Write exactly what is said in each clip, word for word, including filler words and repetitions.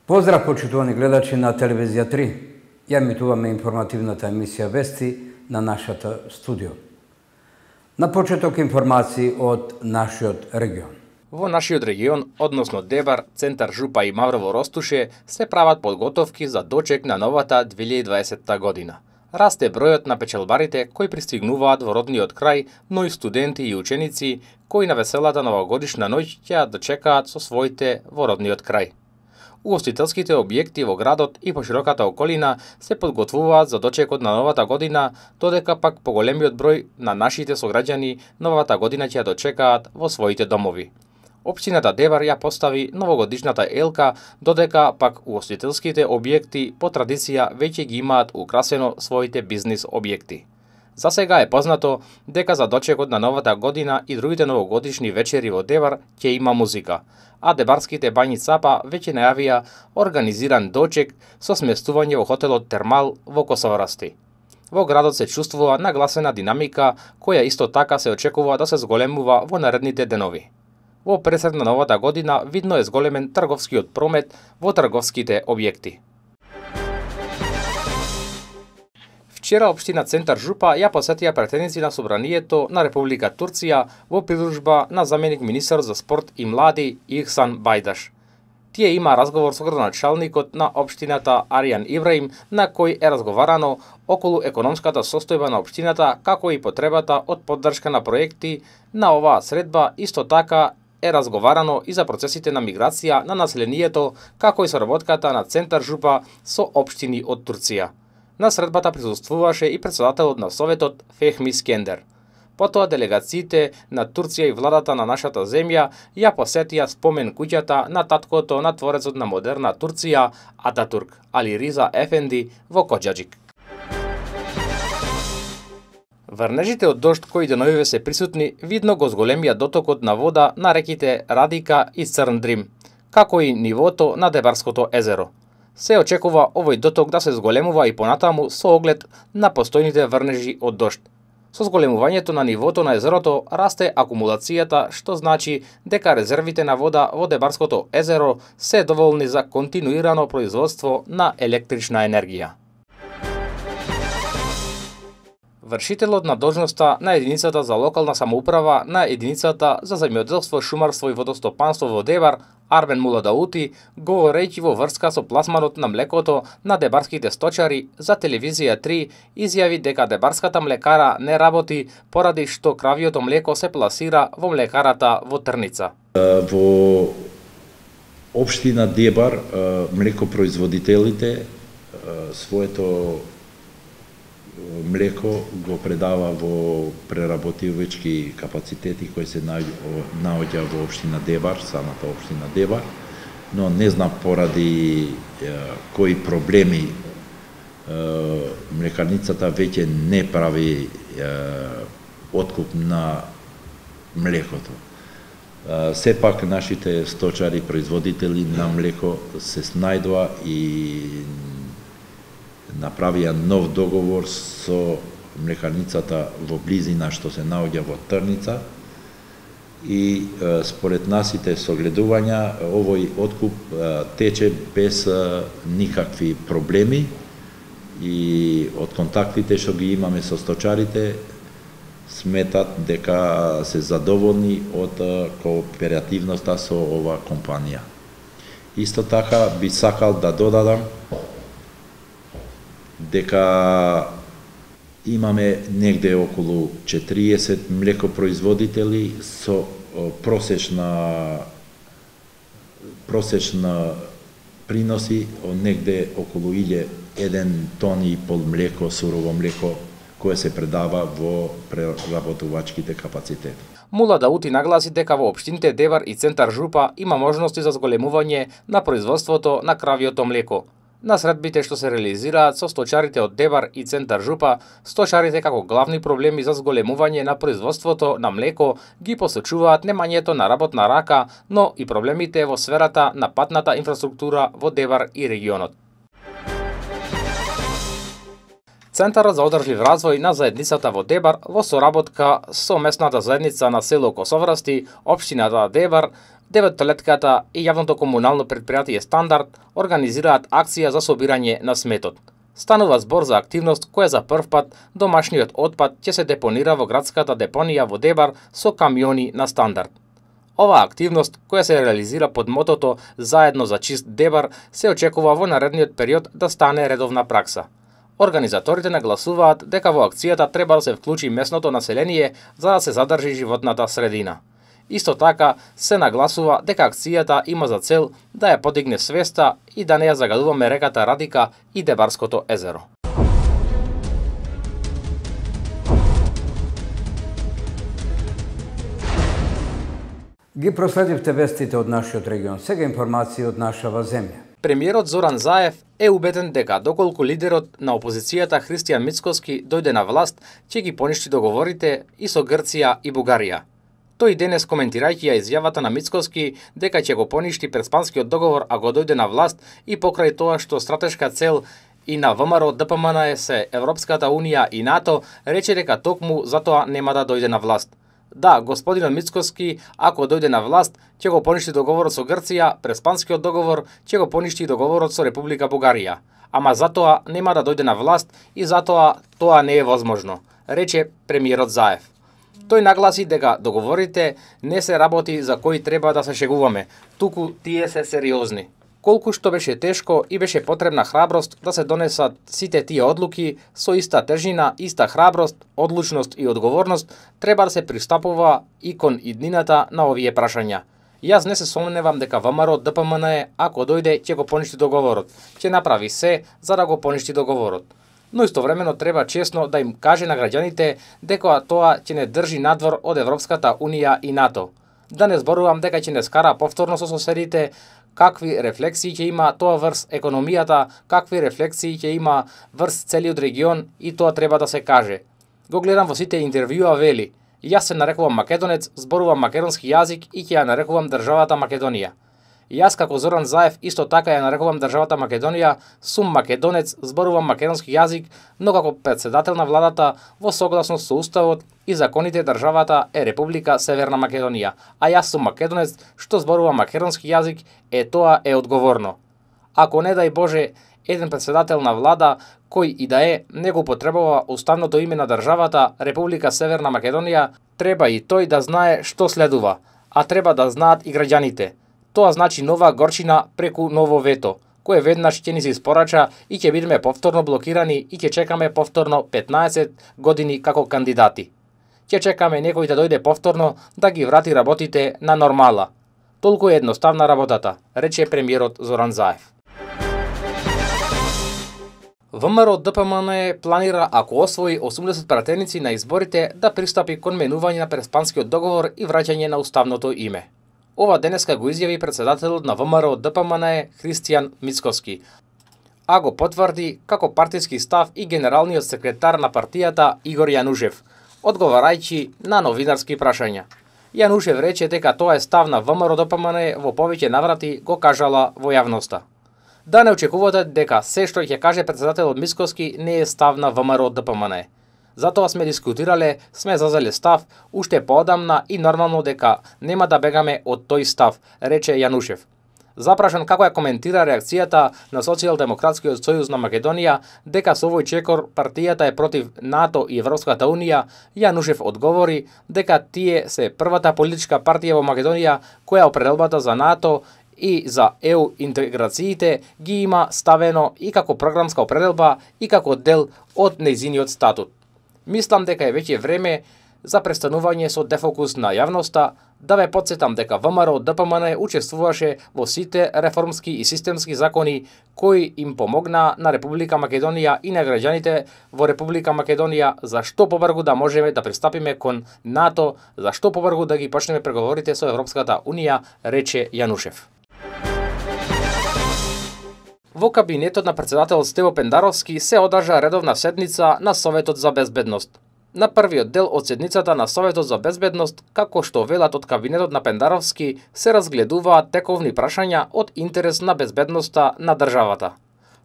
Поздрав, почитувани гледачи на телевизија три. Ја емитуваме информативната емисија Вести на нашата студио. На почеток информации од нашиот регион. Во нашиот регион, односно Дебар, Центар Жупа и Маврово Ростуше, се прават подготовки за дочек на новата две илјади и дваесетта година. Расте бројот на печелбарите кои пристигнуваат во родниот крај, но и студенти и ученици кои на веселата новогодишна ноќ ќе ја дочекаат со своите во родниот крај. Угостителските објекти во градот и пошироката околина се подготвуваат за дочекот на новата година, додека пак поголемиот број на нашите сограѓани новата година ќе ја дочекаат во своите домови. Општината Дебар ја постави новогодишната елка, додека пак угостителските објекти по традиција веќе ги имаат украсено своите бизнис објекти. За сега е познато дека за дочекот на новата година и другите новогодишни вечери во Дебар ќе има музика, а дебарските бањи Цапа веќе најавија организиран дочек со сместување во хотелот Термал во Косоврасти. Во градот се чувствува нагласена динамика, која исто така се очекува да се зголемува во наредните денови. Во пресед на новата година видно е зголемен трговскиот промет во трговските објекти. Вчера општина Центар Жупа ја посетија претседници на Собранието на Република Турција во придружба на заменик министер за спорт и млади Ихсан Бајдаш. Тие има разговор со градоначалникот на општината Аријан Ибраим, на кој е разговарано околу економската состојба на општината, како и потребата од поддршка на проекти на оваа средба. Исто така е разговарано и за процесите на миграција на населението, како и соработката на Центар Жупа со општини од Турција. На средбата присуствуваше и председателот на Советот Фехми Скендер. Потоа делегациите на Турција и владата на нашата земја ја посетија спомен куќата на таткото на творецот на модерна Турција Ататурк, Али Риза Ефенди во Коџаџик. Врнежите од дожд кои деновиве се присутни видно го зголемија дотокот на вода на реките Радика и Црн Дрим, како и нивото на Дебарското езеро. Се очекува овој доток да се зголемува и понатаму со оглед на постојните врнежи од дожд. Со зголемувањето на нивото на езерото расте акумулацијата, што значи дека резервите на вода во Дебарското езеро се доволни за континуирано производство на електрична енергија. Вршителот на должноста на единицата за локална самоуправа на единицата за земјоделство, шумарство и водостопанство во Дебар, Арбен Муладаути, говорејќи во врска со пласманот на млекото на дебарските сточари за телевизија три, изјави дека дебарската млекара не работи поради што кравиото млеко се пласира во млекарата во Трница. Во општина Дебар млекопроизводителите своето млеко го предава во преработувачки капацитети кои се наоѓа во општина Дебар, самата општина Дебар, но не знам поради е, кои проблеми е, млекарницата веќе не прави е, откуп на млекото. Е, сепак нашите сточари, производители на млеко се снајдоа и направија нов договор со млекарницата во близина што се наоѓа во Трница и е, според насите согледувања овој откуп е, тече без е, никакви проблеми и од контактите што ги имаме со сточарите сметат дека се задоволни од е, кооперативноста со оваа компанија. Исто така би сакал да додадам дека имаме негде околу четириесет млекопроизводители со просечна просечна приноси од негде околу еден тони и пол млеко, сурово млеко, кое се предава во преработувачките капацитети. Муладаути нагласи дека во општините Дебар и Центар Жупа има можности за зголемување на производството на кравиото млеко. На средбите што се реализираат со сточарите од Дебар и Центар Жупа, сточарите како главни проблеми за зголемување на производството на млеко ги посочуваат немањето на работна рака, но и проблемите во сферата на патната инфраструктура во Дебар и регионот. Центарот за одржлив развој на заедницата во Дебар во соработка со местната заедница на село Косоврасти, општината Дебар, деветолетката и јавното комунално претпријатие Стандард организираат акција за собирање на сметот. Станува збор за активност која за прв пат домашниот отпад ќе се депонира во градската депонија во Дебар со камиони на Стандард. Оваа активност, која се реализира под мотото Заедно за чист Дебар, се очекува во наредниот период да стане редовна пракса. Организаторите нагласуваат дека во акцијата треба да се вклучи местното население за да се задржи животната средина. Исто така се нагласува дека акцијата има за цел да ја подигне свеста и да не ја загадуваме реката Радика и Дебарското езеро. Ги проследивте вестите од нашиот регион. Сега информации од нашава земја. Премиерот Зоран Заев е убеден дека доколку лидерот на опозицијата Христијан Мицкоски дојде на власт, ќе ги поништи договорите и со Грција и Бугарија. Тој денес, коментирајќи ја изјавата на Мицкоски дека ќе го поништи Преспанскиот договор ако дојде на власт и покрај тоа што стратешка цел и на ВМРО Д П М Н е се Европската Унија и НАТО, рече дека токму затоа нема да дојде на власт. Да, господинот Мицкоски, ако дојде на власт, ќе го поништи договорот со Грција, Преспанскиот договор, ќе го поништи и договорот со Република Бугарија. Ама затоа нема да дојде на власт и затоа тоа не е возможно, рече премиерот Заев. Тој нагласи дека договорите не се работи за кои треба да се шегуваме, туку тие се сериозни. Колку што беше тешко и беше потребна храброст да се донесат сите тие одлуки, со иста тежина, иста храброст, одлучност и одговорност, треба да се пристапува и кон иднината на овие прашања. Јас не се сомневам дека ВМРО Д П М Н, ако дојде, ќе го поништи договорот, ќе направи се за да го поништи договорот. Но истовремено треба честно да им каже на граѓаните дека тоа ќе не држи надвор од Европската Унија и НАТО. Да не зборувам дека ќе не скара повторно со соседите, какви рефлексии ќе има тоа врз економијата, какви рефлексии ќе има врз целиот регион и тоа треба да се каже. Го гледам во сите интервјуа вели: јас се нарекувам македонец, зборувам македонски јазик и ќе ја нарекувам државата Македонија. Јас како Зоран Заев исто така ја нарекувам државата Македонија, сум македонец, зборувам македонски јазик, но како претседател на владата во согласност со уставот и законите државата е Република Северна Македонија, а јас сум македонец што зборува македонски јазик, е тоа е одговорно. Ако не дај Боже, еден претседател на влада кој и да е не го потребува уставното име на државата Република Северна Македонија, треба и тој да знае што следува, а треба да знаат и граѓаните. Тоа значи нова горчина преку ново вето, кое веднаш ќе ни се испорача и ќе бидеме повторно блокирани и ќе чекаме повторно петнаесет години како кандидати. Ќе чекаме некој да дојде повторно да ги врати работите на нормала. Толку е едноставна работата, рече премиерот Зоран Заев. ВМРО Д П М Н планира, ако освои осумдесет пратеници на изборите, да пристапи кон менување на Преспанскиот договор и враќање на уставното име. Ова денеска го изјави претседателот на ВМРО Д П М Н Христијан Мицкоски, а го потврди како партиски став и генералниот секретар на партијата Игор Јанушев, одговарајќи на новинарски прашања. Јанушев рече дека тоа е став на ВМРО Д П М Н, во повеќе наврати го кажала во јавноста. Да не очекувате дека се што ќе каже претседателот Мицкоски не е став на ВМРО Д П М Н. Затоа сме дискутирале, сме зазеле став уште поодамна и нормално дека нема да бегаме од тој став, рече Јанушев. Запрашан како ја коментира реакцијата на Социјалдемократскиот сојуз на Македонија дека со овој чекор партијата е против НАТО и Европската Унија, Јанушев одговори дека тие се првата политичка партија во Македонија која определбата за НАТО и за Е У интеграциите ги има ставено и како програмска определба и како дел од нејзиниот статут. Мислам дека е веќе време за престанување со дефокус на јавноста, да ве потсетам дека ВМРО Д П М Н учествуваше во сите реформски и системски закони кои им помогнаа на Република Македонија и на граѓаните во Република Македонија за што побрзо да можеме да пристапиме кон НАТО, за што побрзо да ги почнеме преговорите со Европската Унија, рече Јанушев. Во кабинетот на претседателот Стево Пендаровски се одржа редовна седница на Советот за безбедност. На првиот дел од седницата на Советот за безбедност, како што велат од кабинетот на Пендаровски, се разгледуваат тековни прашања од интерес на безбедноста на државата.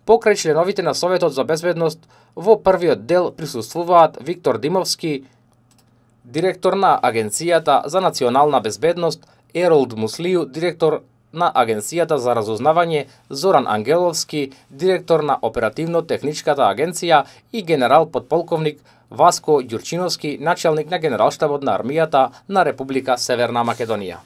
Покрај членовите на Советот за безбедност, во првиот дел присуствуваат Виктор Димовски, директор на Агенцијата за национална безбедност, Еролд Муслију, директор на Агенцијата за разузнавање, Зоран Ангеловски, директор на Оперативно-техничката агенција и генерал подполковник Васко Ѓурчиновски, начелник на Генералштабот на армијата на Република Северна Македонија.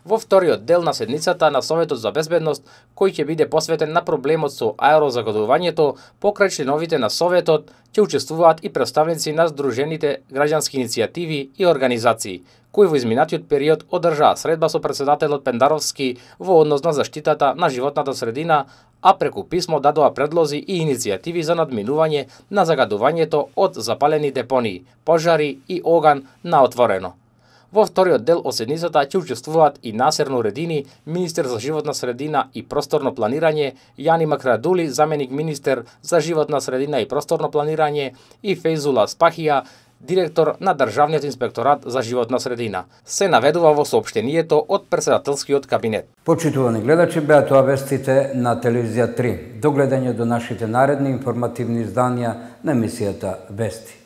Во вториот дел на седницата на Советот за безбедност, кој ќе биде посветен на проблемот со аерозагадувањето, покрај членовите на Советот ќе учествуваат и представници на Сдружените граѓански иницијативи и организации, кои во изминатиот период одржаа средба со претседателот Пендаровски во однос на заштитата на животната средина, а преку писмо дадоа предлози и иницијативи за надминување на загадувањето од запалени депонии, пожари и оган на отворено. Во вториот дел од седницата ќе учествуваат и Насер Нуредини, министер за животна средина и просторно планирање, Јани Макрадули, заменик министер за животна средина и просторно планирање, и Фейзула Спахија, директор на Државниот инспекторат за животна средина. Се наведува во соопштението од претседателскиот кабинет. Почитувани гледачи, беа тоа вестите на телевизија три. До гледање до нашите наредни информативни изданија на емисијата Вести.